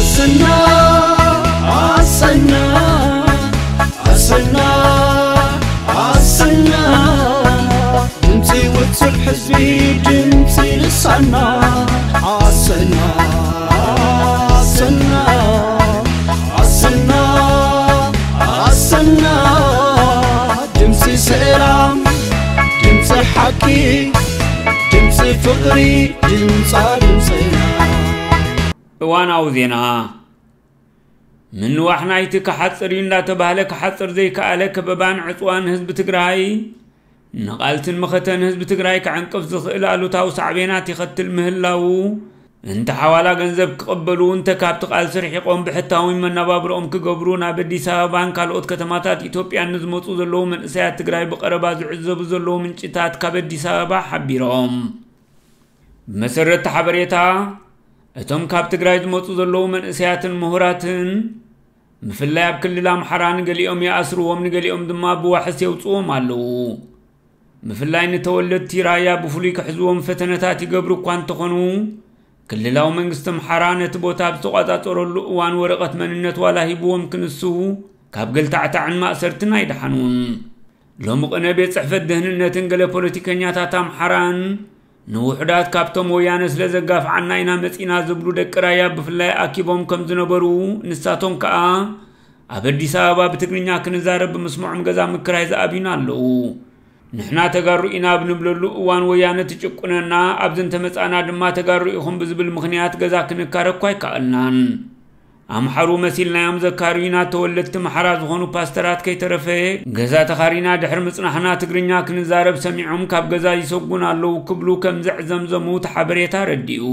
ኣሰና ኣሰና ኣሰና ኣሰና ድምፂ ውፅዕ ህዝቢ ድምፂ ልሳና ኣሰና ኣሰና ኣሰና ኣሰና ድምፂ ሰላም ድምፂ ሓቂ ድምፂ ፍቕሪ ድምፃ ድምፅና እዋናዊ ዜና። ምንዋሕ ናይቲ ክሓፅር እዩ እንዳተባህለ ክሓፅር ዘይከኣለ ከበባን ዕፅዋን ህዝቢ ትግራይ ንቓልስን መኸተን ህዝቢ ትግራይ ክዕንቅፍ ዝኽእል ኣሉታዊ ሳዕቤናት ይኸትል ምህላዉ፣ እንተ ሓዋላ ገንዘብ ክቕበሉ እንተ ካብቲ ቃልሲ ርሒቖም ብሕታዊ መነባብሮኦም ክገብሩ ናብ ኣዲስ ኣበባን ካልኦት ከተማታት ኢትዮጵያን ንዝመፁ ዘለዉ መንእሰያት ትግራይ ብቐረባ ዝዕዘቡ ዘለዉ ምንጭታት ካብ ኣዲስ ኣበባ ሓቢሮም። ብመሰረት እቲ ሓበሬታ፣ እቶም ካብ ትግራይ ዝመፁ ዘለዉ መንእሰያትን ምሁራትን፣ ብፍላይ ኣብ ክልል ኣምሓራ ንገሊኦም ይኣስርዎም፣ ንገሊኦም ድማ ብዋሕስ የውፅዎም ኣለዉ። ብፍላይ ንተወለድቲ ራያ ብፍሉይ ክሕዝዎም ፈተነታት ይገብሩ እኳ እንተኾኑ፣ ክልላዊ መንግስቲ ኣምሓራ ነቲ ቦታ ኣብ ዝተቋጻጸረሉ እዋን ወረቐት መንነት ዋላ ሂብዎም ክንሱ፣ ካብ ገልታዕታዕን ማእሰርትን ኣይደሓኑን። ሎሚ ቅነ ቤት ጽሕፈት ደህንነትን ገለ ፖለቲከኛታት ኣምሓራን ንውሑዳት ካብቶም ወያነ ስለ ዘጋፍዓና ኢና መጺና ዝብሉ ደቂ ራያ ብፍላይ ኣኪቦም ከም ዝነበሩ፣ ንሳቶም ከኣ ኣብ ኣዲስ ኣበባ ብትግርኛ ክንዛረብ ብምስምዖም ገዛ ምክራይ ዝኣብዩና ኣለዉ። ንሕና ተጋሩ ኢና ኣብ ንብለሉ እዋን ወያነ ትጭቁነና፣ ኣብዚ እንተመጻና ድማ ተጋሩ ኢኹም ብዝብል ምኽንያት ገዛ ክንካረ እኳ ኣይከኣልናን። ኣምሓሩ መሲልናዮም ዘካርዩና ተወለድቲ ኣምሓራ ዝኾኑ ፓስተራት ከይተረፈ ገዛ ተኻሪና ድሕሪ ምጽናሕና ትግርኛ ክንዛረብ ሰሚዖም ካብ ገዛ ይሰጉን ኣለዉ ክብሉ ከም ዘዕዘምዘሙ እቲ ሓበሬታ ኣረዲኡ።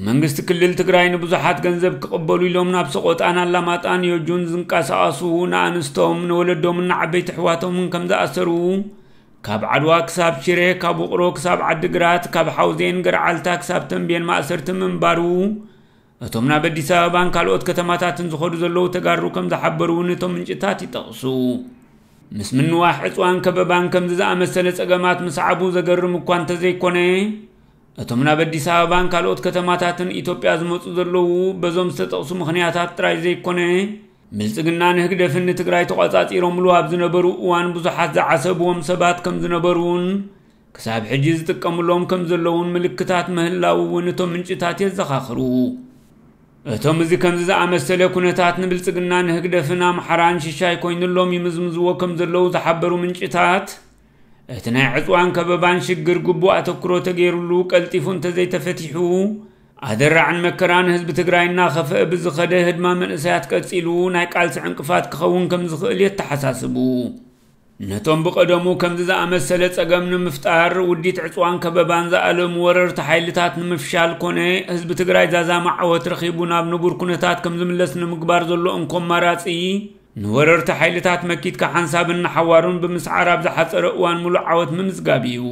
መንግስቲ ክልል ትግራይ ንብዙሓት ገንዘብ ክቕበሉ ኢሎም ናብ ሰቆጣን ኣላማጣን ዮጁን ዝንቀሳቐሱ ንኣንስቶም ንወለዶምን ንዓበይቲ ኣሕዋቶምን ከም ዝኣሰሩ፣ ካብ ዓድዋ ክሳብ ሽረ፣ ካብ ውቕሮ ክሳብ ዓዲግራት፣ ካብ ሓውዜን ገርዓልታ ክሳብ ተንቤን ማእሰርቲ ምንባሩ እቶም ናብ ኣዲስ ኣበባን ካልኦት ከተማታትን ዝኸዱ ዘለዉ ተጋሩ ከም ዝሓበሩ እውን እቶም ምንጭታት ይጠቕሱ። ምስ ምንዋሕ ዕፅዋን ከበባን ከምዚ ዝኣመሰለ ፀገማት ምስዓቡ ዘገርም እኳ እንተዘይኮነ፣ እቶም ናብ ኣዲስ ኣበባን ካልኦት ከተማታትን ኢትዮጵያ ዝመፁ ዘለዉ በዞም ዝተጠቕሱ ምኽንያታት ጥራይ ዘይኮነ፣ ብልፅግናን ህግደፍን ንትግራይ ተቋፃፂሮምሉ ኣብ ዝነበሩ እዋን ብዙሓት ዝዓሰብዎም ሰባት ከም ዝነበሩን ክሳብ ሕጂ ዝጥቀምሎም ከም ዘለዉን ምልክታት ምህላው እውን እቶም ምንጭታት የዘኻኽሩ። እቶም እዚ ከምዚ ዝኣመሰለ ኩነታት ንብልፅግናን ህግደፍን ኣምሓራን ሽሻይ ኮይኑሎም ይምዝምዝዎ ከም ዘለዉ ዝሓበሩ ምንጭታት፣ እቲ ናይ ዕፅዋን ከበባን ሽግር ግቡእ ኣተኩሮ ተገይሩሉ ቀልጢፉ እንተዘይተፈቲሑ ኣደራዕን መከራን ህዝቢ ትግራይ እናኸፍአ ብዝኸደ ህድማ መንእሰያት ቀፂሉ ናይ ቃልሲ ዕንቅፋት ክኸውን ከም ዝኽእል የተሓሳስቡ። ነቶም ብቐደሙ ከምዚ ዝኣመሰለ ጸገም ንምፍጣር ውዲት ዕጽዋን ከበባን ዝኣለሙ ወረርቲ ሓይልታት ንምፍሻል ኮነ ህዝቢ ትግራይ ዛዛሚ ዓወት ረኺቡ ናብ ንቡር ኩነታት ከም ዝምለስ ንምግባር ዘሎ እንኮ ኣማራጺ፣ ንወረርቲ ሓይልታት መኪትካ ሓንሳብን ንሓዋሩን ብምስዓር ኣብ ዝሓጸረ እዋን ምሉእ ዓወት ምምዝጋብ እዩ።